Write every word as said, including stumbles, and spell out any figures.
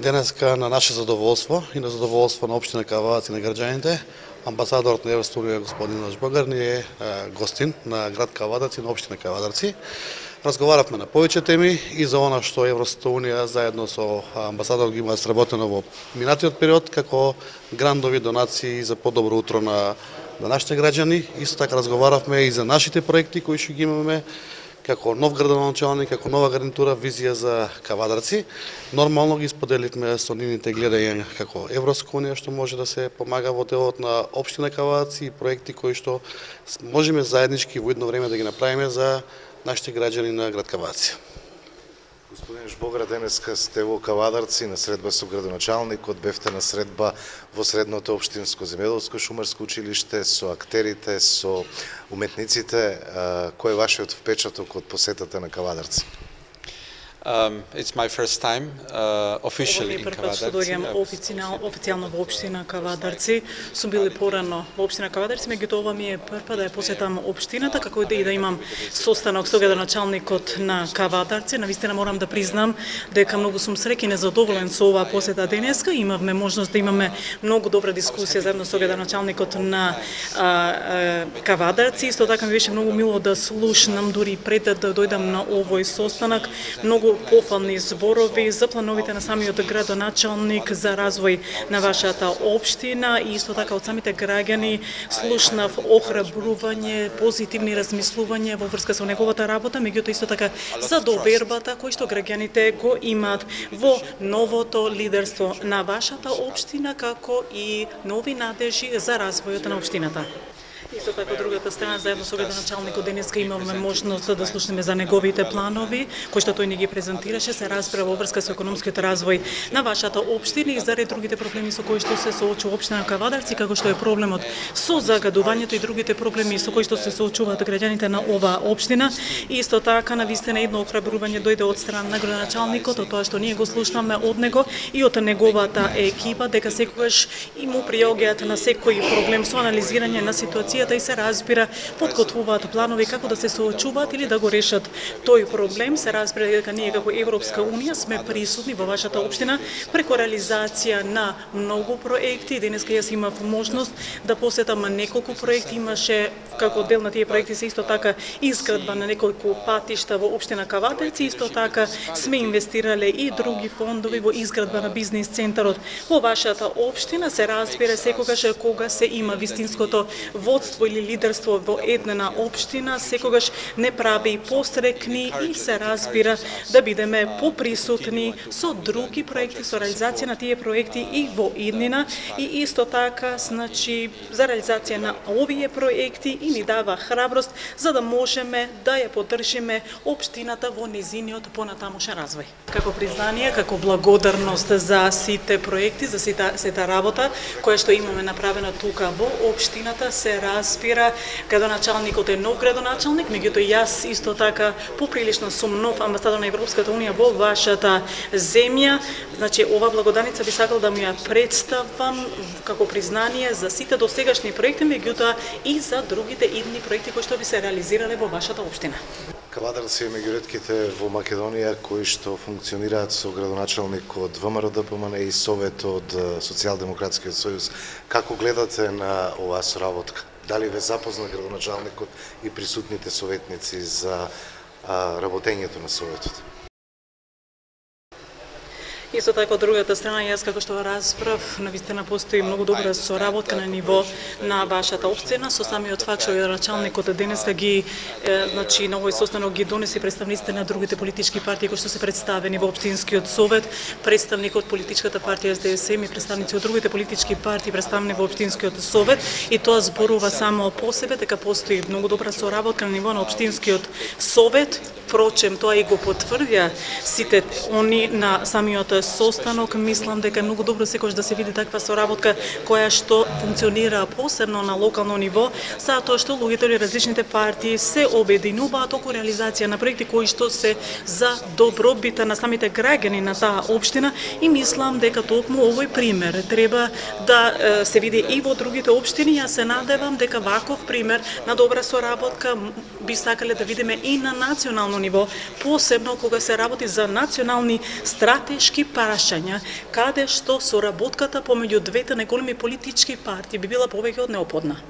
денеска на наше задоволство и на задоволство на општина Кавадарци и на граѓаните, амбасадорот на Европската унија господин Милош Богар ни е гостин на град Кавадарци и на општина Кавадарци. Разговаравме на повеќе теми и за она што Европската унија заедно со амбасадорот ги има сработено во минатиот период, како грандови донации за подобро утро на на нашите граѓани. Исто така разговаравме и за нашите проекти кои што ги имаме како нов градоначалник, како нова гарнитура, визија за Кавадарци. Нормално ги споделивме со нивните гледања како Европска унија што може да се помага во делот на општина Кавадарци и проекти кои што можеме заеднички во едно време да ги направиме за нашите граѓани на град Кавадарци. Господин Жбогра, денеска сте во Кавадарци на средба со градоначалникот, бевте на средба во средното општинско земјоделско шумарско училиште со актерите, со уметниците. Кој е вашиот впечаток од посетата на Кавадарци? Um, it's my first time uh, officially in Kavadarci. Доаѓам официјално во општина Кавадарци. Сум бил порано во општина Кавадарци, меѓутоа ова ми е прва да ја посетам општината, како и да имам состанок со градоначалникот на Кавадарци. Навистина морам да признам дека многу сум среќен и задоволен со оваа посета денеска. Имавме можност да имаме многу добра дискусија заедно со градоначалникот на а, а, Кавадарци. Исто така ми беше многу мило да слушнам дури пред да дојдам на овој состанок многу пофални зборови за плановите на самиот градоначалник за развој на вашата општина и исто така од самите граѓани слушнав охрабрување, позитивни размислувања во врска со неговата работа, меѓутоа исто така за довербата кој што граѓаните го имаат во новото лидерство на вашата општина, како и нови надежи за развојот на општината. Исто така, од другата страна, заедно со градоначалникот денеска имавме можност да слушнеме за неговите планови, кои што тој ни ги презентираше, се расправа во врска со економскиот развој на вашата општина и заради другите проблеми со кои што се соочува општина Кавадарци, како што е проблемот со загадувањето и другите проблеми со кои што се соочуваат граѓаните на оваа општина. И исто така, навистина едно охрабрување дојде од страна на градоначалникот, од тоа што ние го слушнаме од него и од неговата екипа, дека секогаш и му приоѓаат на секој проблем со анализирање на ситуација и се разбира, подготвуваат планови како да се соочуваат или да го решат тој проблем. Се разбира дека ние како Европска унија сме присутни во вашата општина преку реализација на многу проекти. Денеска јас имав можност да посетам неколку проекти. Имаше како дел на тие проекти се исто така изградба на неколку патишта во општина Кавадарци. Исто така сме инвестирале и други фондови во изградба на бизнис центарот во вашата општина. Се разбира секогаш кога се има вистинското водство или лидерство во една општина, секогаш не прави пострекни и се разбира да бидеме поприсутни со други проекти, со реализација на тие проекти и во иднина. И исто така, значи, за реализација на овие проекти и ни дава храброст за да можеме да ја поддржиме општината во незиниот понатамошен развој. Како признание, како благодарност за сите проекти, за сета, сета работа која што имаме направена тука во општината, се разбира, градоначалникот е нов градоначалник, меѓутоа јас исто така поприлично сум нов амбасадор на Европската унија во вашата земја. Значи, ова благодарница би сакал да ми ја представам како признание за сите досегашни проекти, меѓутоа и за другите идни проекти кои што би се реализирале во вашата општина. Кавадарци е меѓу ретките во Македонија кои што функционираат со градоначалник од ВМРО-ДПМН и Совет од Социјалдемократскиот сојуз. Како гледате на оваа соработка? Дали ве запозна градоначалникот и присутните советници за а, работењето на Советот? Исто така, од другата страна, јас како што расправ, навистина постои многу добра соработка на ниво на вашата општина. Со самиот факт што градоначалникот денеска ги, е, значи, на овој состанок ги донеси представниците на другите политички партии кои што се представени во општинскиот совет, представник од политичката партија Ес Де Ес Ем и представници од другите политички партии представени во општинскиот совет, и тоа зборува само по себе дека постои многу добра соработка на ниво на општинскиот совет. Впрочем, тоа и го потврдија сите они на самиот состанок. Мислам дека е многу добро секогаш да се види таква соработка која што функционира посебно на локално ниво, затоа што луѓето или различните партии се обединуваат околу реализација на проекти кои што се за добробита на самите граѓани на таа општина, и мислам дека токму овој пример треба да се види и во другите општини. Јас се надевам дека ваков пример на добра соработка би сакале да видиме и на национално ниво, посебно кога се работи за национални стратешки прашања каде што соработката помеѓу двете најголеми политички партии би била повеќе од неопходна.